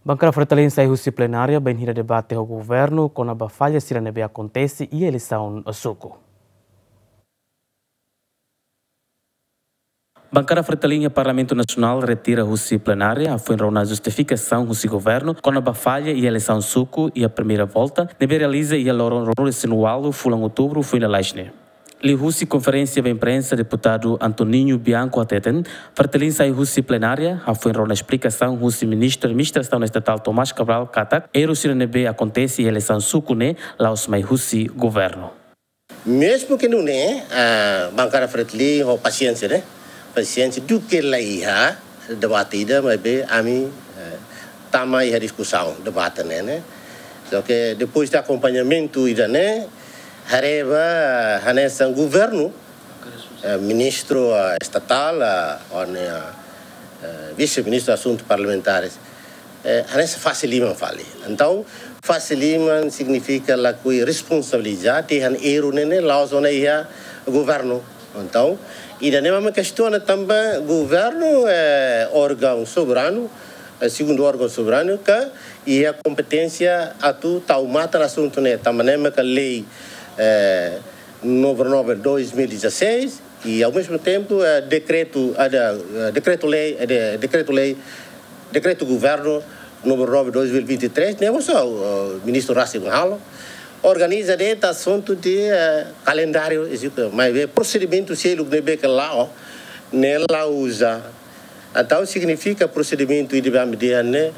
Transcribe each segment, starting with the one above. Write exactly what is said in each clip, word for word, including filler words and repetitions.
Bankada Fretilin sai husi plenária bainhira debate ho governu kona-ba falla sira ne'ebé akontese iha eleisaun suku. Bankada Fretilin iha Parlamentu Nasionál retira husi plenária, hafoin rona justifikasaun husi governu kona-ba falla iha eleisaun suku iha primeira volta, ne'ebé realiza iha loron ruanulu-resin-ualu fulan Outubru foin lalais ne'e. Liuhusi konferénsia ba imprensa, deputadu Antoninho Bianco hateten, Fretilin sai husi plenária, hafoin rona esplikasaun husi Ministru Administrasaun Estatál Tomás Cabral katak erru sira ne'ebé akontese iha eleisaun suku ne'e la'ós mai husi governu. Mezmu ke nune'e, ah, bankada Fretilin ho pasiénsia, ne'e? Pasiénsia duké la iha debate ida, maibé ami, eh, tama iha diskusaun, debate ne'e, ne'e? Só ke depois de akompañamentu ida-ne'e, haree ba hanesan governu, eh, ministru, eh, estatál, eh, ho nia, eh, vise-ministru asuntu parlamentares, eh, hanesan fase liman fali. Entaun, fase liman signifika lakohi responsabiliza, dehan erru ne'e ne'e la'ós ona iha governu. Entaun, ida-ne'e mak ami kestiona tanba governu, eh, órgaun soberanu, eh, segundu órgaun soberanu, ke iha kompeténsia atu tau matan asuntu ne'e, tanba ne'e maka lei, eh, númeru nove dois mil e dezasseis, i ao mesmo tempo, eh, dekretu, ada, eh, dekretu-lei, eh, de-, dekretu-lei, dekretu governu númeru nove dois mil e vinte e três, ne'e mós, eh, ministru rasik halo. Organiza de'it asuntu de, eh, kalendáriu, eziste, maibé prosedimentu seluk ne'ebé ke la'o, ne'e la uza. Entaun signifika prosedimentu ida-ne'ebé ami dehan ne'e,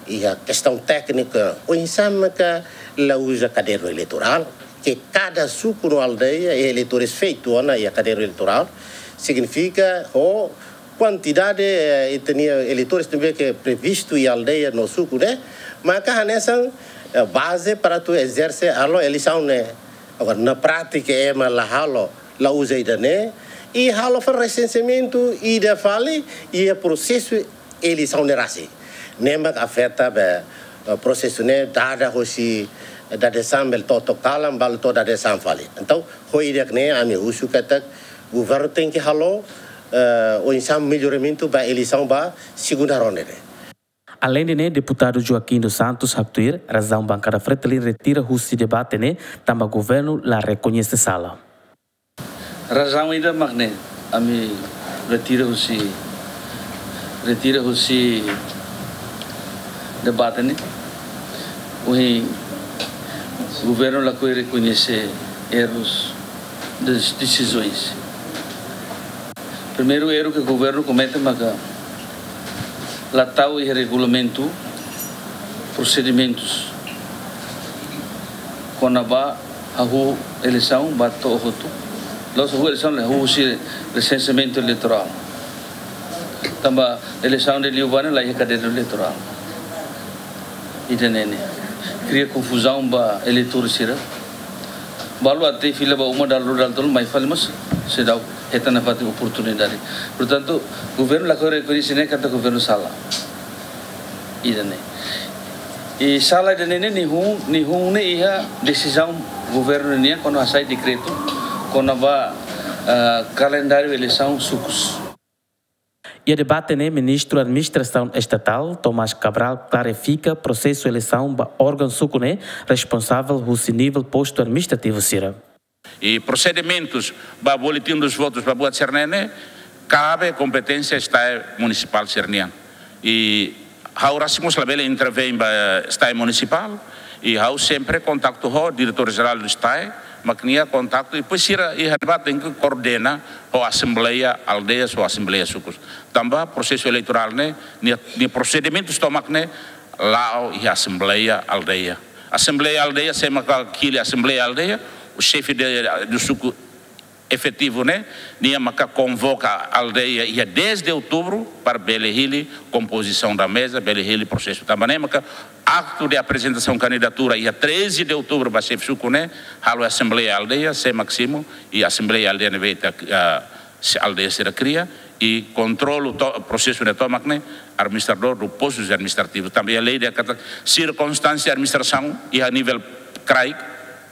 iha kestaun téknika, oinsá maka la uza kadernu eleitorál, ke kada suku no aldeia, eleitores feitu ona iha kadernu eleitorál, signifika ho kuantidade, eh, ita-nia eleitores ne'ebé ke previstu iha aldeia no suku ne'e, maka hanesan, eh, baze para atu ezerse halo eleisaun ne'e. Agora, na prátika, ema la halo, la uza ida-ne'e, i halo fali resenseamentu ida fali iha prosesu eleisaun ne'e rasik. Ne'e mak afeta ba, eh, prosesu ne'e dada hosi dadeer-saan bele to'o kalan, balu to'o dadeer-saan fali. Entaun, ho ida-ne'e ami husu katak governu tenke halo, eh, oinsá melloramentu ba eleisaun ba segunda ronda ne'e. Aleinde ne'e, deputadu Joaquim dos Santos haktuir, razaun bankada Fretilin retira husi debate ne'e, tanba governu la rekoñese sala. Razaun ida mak ne'e, ami retira husi, retira husi debate ne'e. Ohin governu lakohi rekoñese errus das decisões. Primeiru erru ke governu komete maka la tau iha regulamentu prosedimentus kona-ba hahú eleisaun ba to'o hotu. La'ós hahú eleisaun, la hahú husi resenseamentu eleitorál. Tanba eleisaun ne'e liubá ne'e la iha kadernu eleitorál. Ida-ne'e ne'e kria konfuzaun ba eleitór sira. Balu até fila ba uma, dala rua, dala tolu, mai fali mós seidauk hetan nafatin oportunidade. Portantu, governu lakohi rekoñese ne'e katak governu sala. Ida-ne'e. I sala ida-ne'e ne'e nihun, nihun ne'e iha desizaun governu nian kuandu hasai dekretu kona-ba, ah, kalendáriu eleisaun sukus. Iha debate ne'e, Ministru Administrasaun Estatál, Tomás Cabral, klarifika prosesu eleisaun ba órgaun suku ne'e responsavel husi nivel postu administrativu sira. I prosedimentus ba boletin dos votus ba buat sira-ne'e ne'e kabe kompeténsia STAE munisipál sira-nian. I ha'u rasik mós labele intervein ba STAE munisipál, i ha'u sempre kontaktu ho diretór jerál do STAE, mak nia kontaktu, i depois sira iha ne'ebá tenke koordena ho asembleia aldeia, ho asembleia sukus. Tanba prosesu eleitorál ne'e, nia, nia prosedimentus tomak ne'e la'o iha asembleia aldeia. Asembleia aldeia, sé maka hili asembleia aldeia, o xefe de, do suku efetivu ne'e, nia maka konvoka aldeia iha dez de outubro para bele hili composição da mesa, bele hili prosesu. Tanba ne'e maka aktu de aprezentasaun kandidatura iha treze de outubro ba xefe suku ne'e halo asembleia aldeia, sé mak simu, i asembleia aldeia ne'ebé ita, ah, se aldeia sira kria, i kontrolu to-, prosesu ne'e tomak ne'e administradór do postu administrativu. Tanba iha lei dehan katak sirkunstánsia administrasaun iha nivel kraik,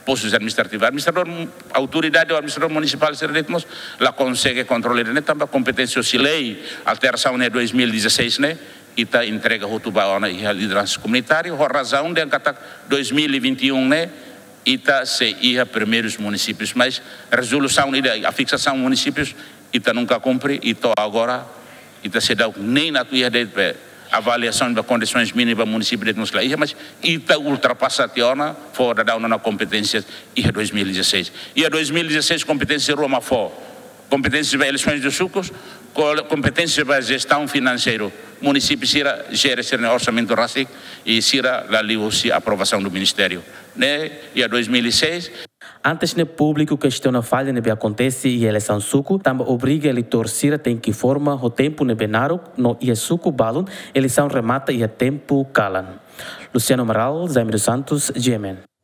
postus administrativus. Administradór, autoridade ou administradór munisipál sira de'it mós la konsege kontrola ida-ne'e tanba kompeténsia husi lei alterasaun ne'e dois mil e dezasseis ne'e, Ita entrega hotu ba ona iha lideransa komunitária, ho razaun dehan katak dois mil e vinte e um ne'e, ita sei iha primeirus munisípius, mas rezolusaun ida, a fiksasaun munisípius, ita nunka kumpre, i to'o agora, ita seidauk nein atu iha de'it be, avaliasaun ba kondisoens mínimas ba munisípiu de'it mós la iha, mas ita ultrapasa tiha ona, fó daudaun ona kompeténsia iha dois mil e dezasseis. Iha dois mil e dezasseis kompeténsia rua mak fó. Kompeténsia ba eleisoens de sukus, ko-, kompeténsia ba jestaun finanseiru. Munisípiu sira jere sira-nia orsamentu rasik i sira la liu husi aprovasaun do ministériu. Ne'e, iha dois mil e seis. Antes ne'e públiku kestiona falla ne'ebé akontese iha eleisaun suku, tanba obriga eleitór sira tenke forma ho tempu ne'ebé naruk, no iha suku balun, eleisaun remata iha tempu kalan. Luciano Amaral, Jaime dos Santos, G M N.